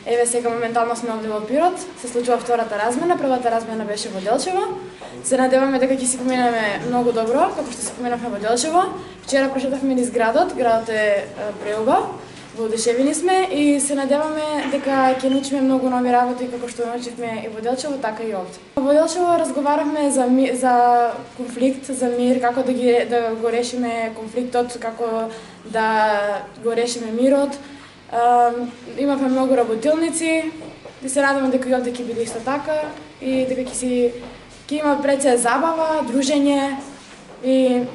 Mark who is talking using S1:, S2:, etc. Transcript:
S1: Еве сега моментално сме овде во Пирот, се случува втората размена, првата размена беше во Делчево. Се надеваме дека ќе си поминеме многу добро, како што се поминавме во Делчево. Вчера прошетавме низ градот, градот е преубав, воодушевени сме и се надеваме дека ќе научиме многу нови работи како што научивме и во Делчево, така и овде. Во Делчево разговаравме за конфликт, за мир, како да го решиме конфликтот, како да го решиме мирот. Имавме многу работилници и се надевам дека и овде ќе биде исто така и дека ќе има пред се забава, дружење и